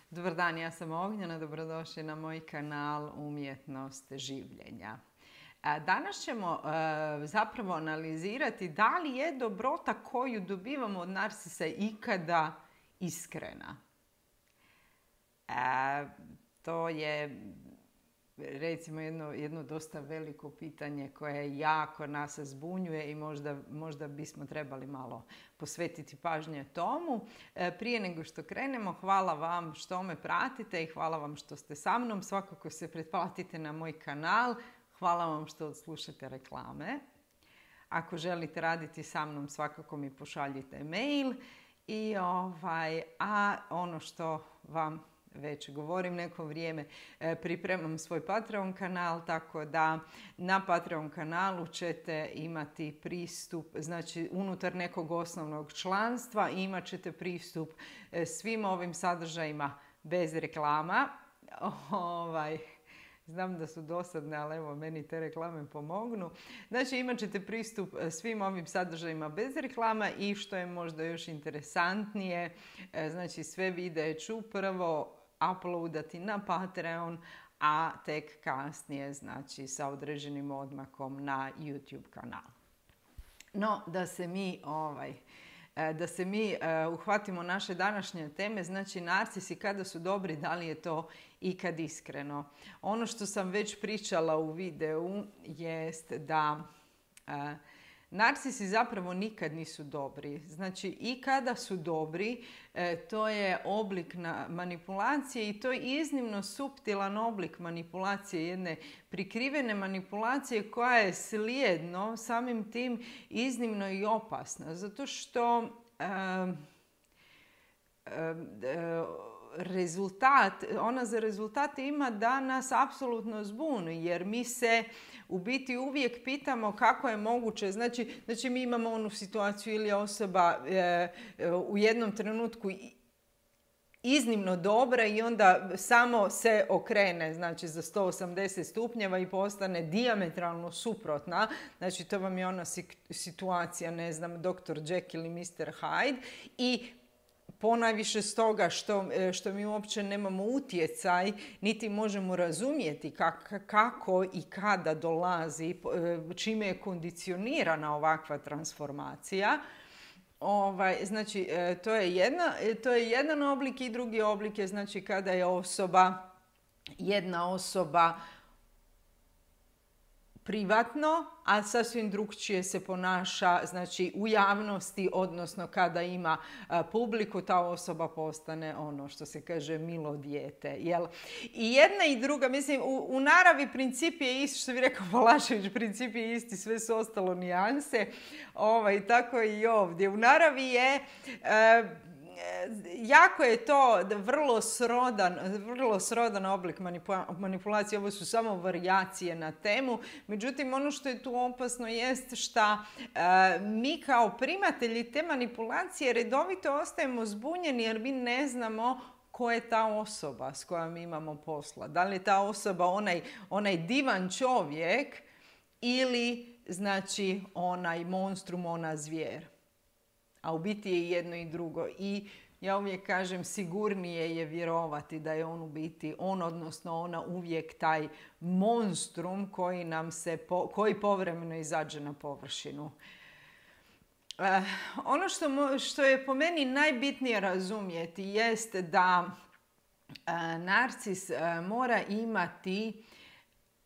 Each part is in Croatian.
Dobar dan, ja sam Ognjena, dobrodošli na moj kanal Umjetnost življenja. Danas ćemo zapravo analizirati da li je dobrota koju dobivamo od narsisa ikada iskrena. To je recimo jedno dosta veliko pitanje koje jako nas zbunjuje i možda bismo trebali malo posvetiti pažnje tomu. Prije nego što krenemo, hvala vam što me pratite i hvala vam što ste sa mnom. Svakako se pretplatite na moj kanal. Hvala vam što odslušate reklame. Ako želite raditi sa mnom, svakako mi pošaljite mail. A ono što vam već govorim neko vrijeme, pripremam svoj Patreon kanal, tako da na Patreon kanalu ćete imati pristup, znači unutar nekog osnovnog članstva imat ćete pristup svim ovim sadržajima bez reklama. Znam da su dosadne, ali evo, meni te reklame pomognu. Znači, imat ćete pristup svim ovim sadržajima bez reklama i što je možda još interesantnije, znači sve videe ću prvo uploadati na Patreon, a tek kasnije, znači sa određenim odmakom na YouTube kanal. No, da se mi uhvatimo naše današnje teme, znači narcisi kada su dobri, da li je to ikad iskreno. Ono što sam već pričala u videu jest da narcisi zapravo nikad nisu dobri. Znači i kada su dobri, to je oblik manipulacije i to je iznimno suptilan oblik manipulacije, jedne prikrivene manipulacije koja je slijedno samim tim iznimno i opasna. Zato što ona za rezultat ima da nas apsolutno zbuni, jer mi se u biti uvijek pitamo kako je moguće. Znači mi imamo onu situaciju ili je osoba u jednom trenutku iznimno dobra i onda samo se okrene, znači za 180 stupnjeva i postane dijametralno suprotna. Znači to vam je ona situacija, ne znam, Dr. Jekyll i Mr. Hyde i ponajviše stoga što mi uopće nemamo utjecaj, niti možemo razumjeti kako i kada dolazi, čime je kondicionirana ovakva transformacija. Znači, to je jedan oblik i drugi oblik je znači kada je jedna osoba privatno, a sasvim drukčije se ponaša, znači u javnosti, odnosno kada ima publiku, ta osoba postane ono što se kaže milo dijete. Jel? I jedna i druga, mislim, u naravi princip je isti, što bi rekao Balašević, princip je isti, sve su ostalo nijanse, tako i ovdje. U naravi je jako je to vrlo srodan oblik manipulacije. Ovo su samo varijacije na temu. Međutim, ono što je tu opasno jest što mi kao primatelji te manipulacije redovito ostajemo zbunjeni jer mi ne znamo ko je ta osoba s kojom imamo posla. Da li je ta osoba onaj divan čovjek ili znači onaj monstrum, ona zvijer. A u biti je jedno i drugo. I ja uvijek kažem, sigurnije je vjerovati da je on u biti, odnosno ona uvijek taj monstrum koji povremeno izađe na površinu. Ono što je po meni najbitnije razumjeti jest da narcis mora imati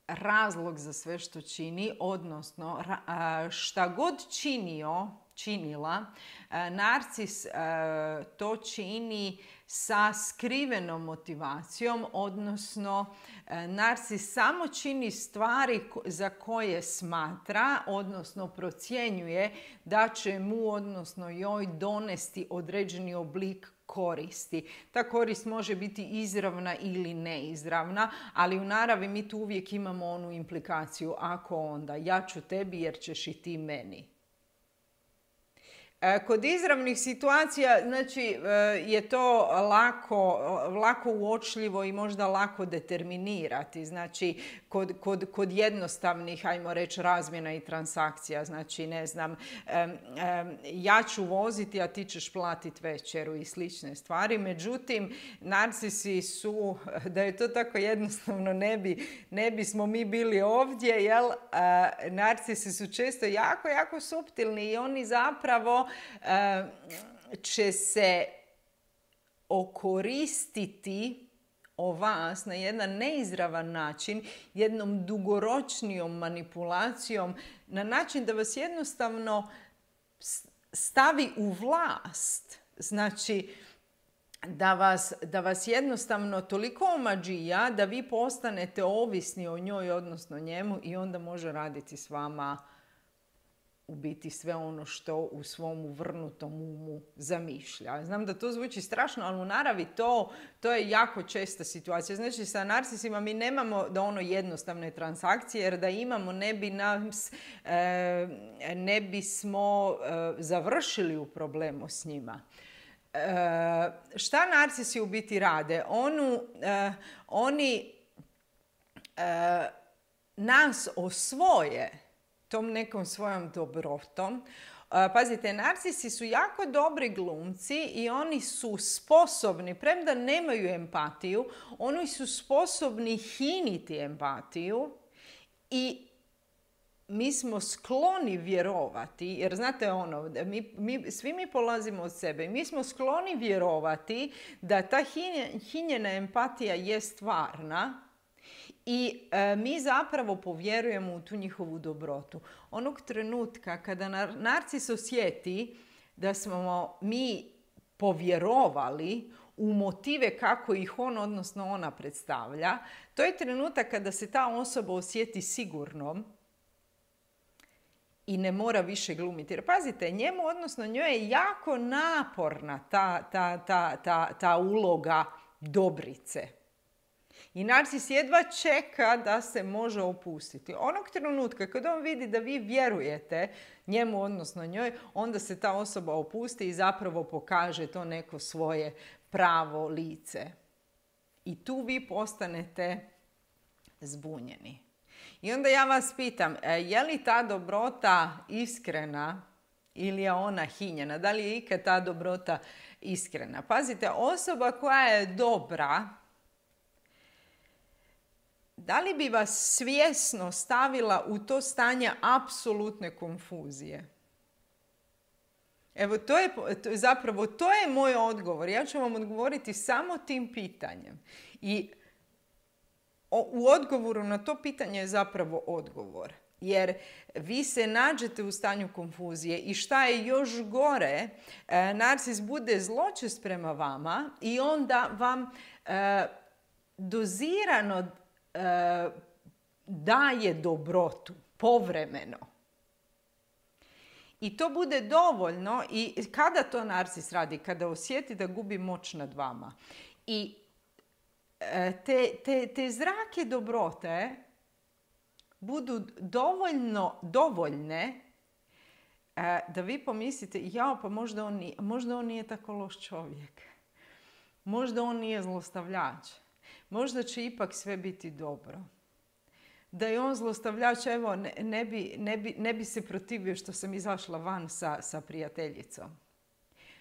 razlog za sve što čini, odnosno šta god činila, narcis to čini sa skrivenom motivacijom, odnosno narcis samo čini stvari za koje smatra, odnosno procjenjuje da će mu, odnosno joj, donesti određeni oblik koristi. Ta korist može biti izravna ili neizravna, ali u naravi mi tu uvijek imamo onu implikaciju, ako onda ja ću tebi jer ćeš i ti meni. Kod izravnih situacija, znači, je to lako uočljivo i možda lako determinirati. Znači, kod jednostavnih, ajmo reći, razmjena i transakcija. Znači, ne znam, ja ću voziti, a ti ćeš platiti večeru i slične stvari. Međutim, narcisi su, da je to tako jednostavno, ne bismo mi bili ovdje, jel? Narcisi su često jako suptilni i oni zapravo će se okoristiti o vas na jedan neizravan način, jednom dugoročnijom manipulacijom, na način da vas jednostavno stavi u vlast. Znači, da vas jednostavno toliko omađija da vi postanete ovisni o njoj, odnosno njemu, i onda može raditi s vama u biti sve ono što u svom uvrnutom umu zamišlja. Znam da to zvuči strašno, ali u naravi to je jako česta situacija. Znači, sa narcisima mi nemamo da ono jednostavne transakcije, jer da imamo ne bismo završili u problemu s njima. Šta narcisi u biti rade? Oni nas osvoje tom nekom svojom dobrotom. Pazite, narcisi su jako dobri glumci i oni su sposobni, premda nemaju empatiju, oni su sposobni hiniti empatiju i mi smo skloni vjerovati, jer znate ono, svi mi polazimo od sebe, mi smo skloni vjerovati da ta hinjena empatija je stvarna i mi zapravo povjerujemo u tu njihovu dobrotu. Onog trenutka kada narcis osjeti da smo mi povjerovali u motive kako ih on, odnosno ona, predstavlja, to je trenutak kada se ta osoba osjeti sigurnom i ne mora više glumiti. Jer pazite, njemu, odnosno njoj je jako naporna ta uloga dobrice. I narcis jedva čeka da se može opustiti. Onog trenutka kad on vidi da vi vjerujete njemu, odnosno njoj, onda se ta osoba opusti i zapravo pokaže to neko svoje pravo lice. I tu vi postanete zbunjeni. I onda ja vas pitam, je li ta dobrota iskrena ili je ona hinjena? Da li je ikad ta dobrota iskrena? Pazite, osoba koja je dobra, da li bi vas svjesno stavila u to stanje apsolutne konfuzije? Evo, to je moj odgovor. Ja ću vam odgovoriti samo tim pitanjem. I u odgovoru na to pitanje je zapravo odgovor. Jer vi se nađete u stanju konfuzije i šta je još gore, narcis bude zločest prema vama i onda vam dozirano daje dobrotu, povremeno. I to bude dovoljno. I kada to narcis radi? Kada osjeti da gubi moć nad vama. I te zrake dobrote budu dovoljne da vi pomislite, pa možda on nije tako loš čovjek. Možda on nije zlostavljač. Možda će ipak sve biti dobro. Da je on zlostavljač, evo, ne bi se protivio što sam izašla van sa prijateljicom.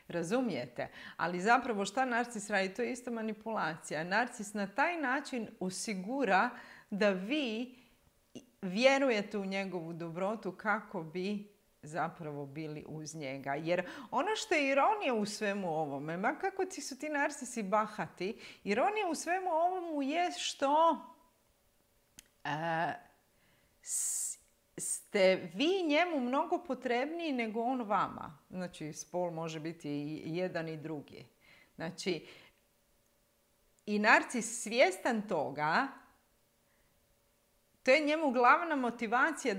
Razumijete? Ali zapravo šta narcis radi? To je isto manipulacija. Narcis na taj način osigura da vi vjerujete u njegovu dobrotu kako bi zapravo bili uz njega. Jer ono što je ironija u svemu ovome, ma kako su ti narcisi bahati, ironija u svemu ovomu je što ste vi njemu mnogo potrebniji nego on vama. Znači, spol može biti i jedan i drugi. Znači, i narcis svjestan toga, to je njemu glavna motivacija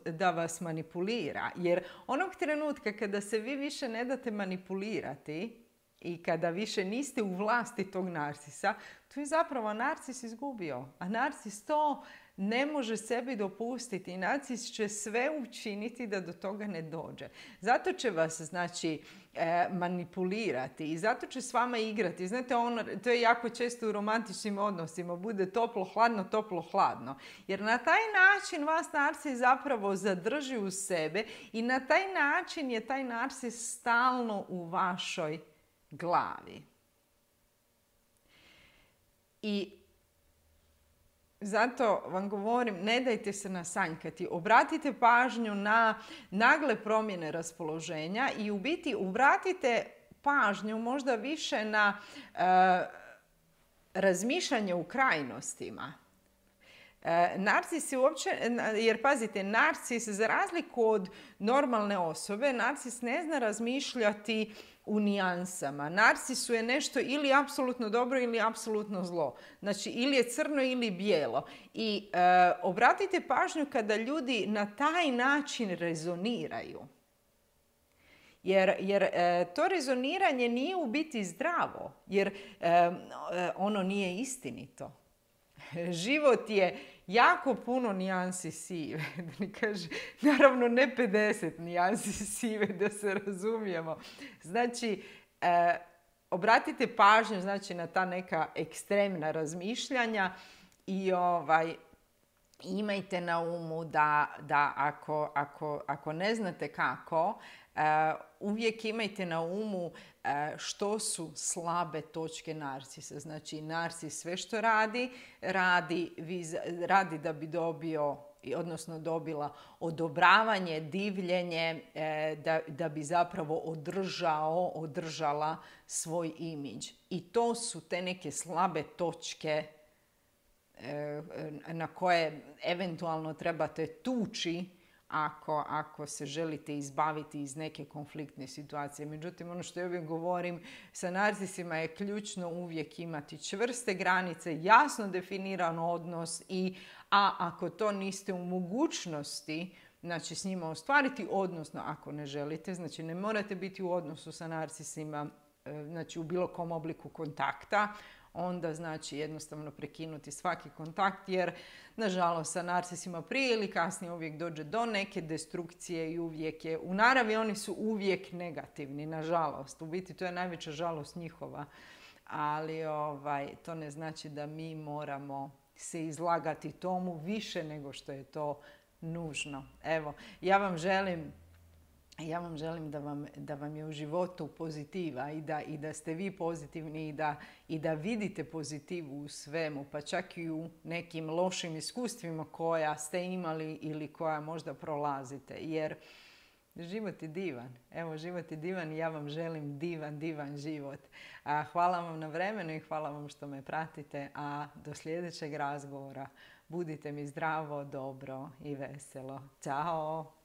da vas manipulira. Jer onog trenutka kada se vi više ne date manipulirati i kada više niste u vlasti tog narcisa, to je zapravo narcis izgubio. A narcis to ne može sebi dopustiti. Narcis će sve učiniti da do toga ne dođe. Zato će vas, znači, manipulirati i zato će s vama igrati. Znate, to je jako često u romantičnim odnosima. Bude toplo, hladno, toplo, hladno. Jer na taj način vas narcis zapravo zadrži u sebe i na taj način je taj narcis stalno u vašoj glavi. I zato vam govorim, ne dajte se nasanjkati. Obratite pažnju na nagle promjene raspoloženja i u biti obratite pažnju možda više na razmišljanje u krajnostima. Narcis je uopće, jer pazite, narcis za razliku od normalne osobe, narcis ne zna razmišljati u nijansama. Narcisu je nešto ili apsolutno dobro ili apsolutno zlo. Znači, ili je crno ili bijelo. I obratite pažnju kada ljudi na taj način rezoniraju. Jer to rezoniranje nije u biti zdravo. Jer ono nije istinito. Život je jako puno nijansi sive. Naravno ne 50 nijansi sive, da se razumijemo. Znači, obratite pažnju, znači, na ta neka ekstremna razmišljanja i imajte na umu da ako ne znate kako, uvijek imajte na umu što su slabe točke narcisa. Znači, narcis sve što radi da bi dobio, odnosno dobila odobravanje, divljenje, da bi održala svoj imidž. I to su te neke slabe točke na koje eventualno trebate tući ako se želite izbaviti iz neke konfliktne situacije. Međutim, ono što ja uvijek govorim, sa narcisima je ključno uvijek imati čvrste granice, jasno definiran odnos a ako to niste u mogućnosti, znači, s njima ostvariti, odnosno ako ne želite, znači ne morate biti u odnosu sa narcisima, znači u bilo kom obliku kontakta, onda znači jednostavno prekinuti svaki kontakt, jer nažalost sa narcisima prije ili kasnije uvijek dođe do neke destrukcije i uvijek je, u naravi oni su uvijek negativni, nažalost. U biti to je najveća žalost njihova, ali to ne znači da mi moramo se izlagati tomu više nego što je to nužno. Evo, ja vam želim da vam je u životu pozitiva i da ste vi pozitivni i da vidite pozitivu u svemu, pa čak i u nekim lošim iskustvima koja ste imali ili koja možda prolazite. Jer život je divan. Evo, život je divan i ja vam želim divan život. Hvala vam na vremenu i hvala vam što me pratite. A do sljedećeg razgovora budite mi zdravo, dobro i veselo. Ćao!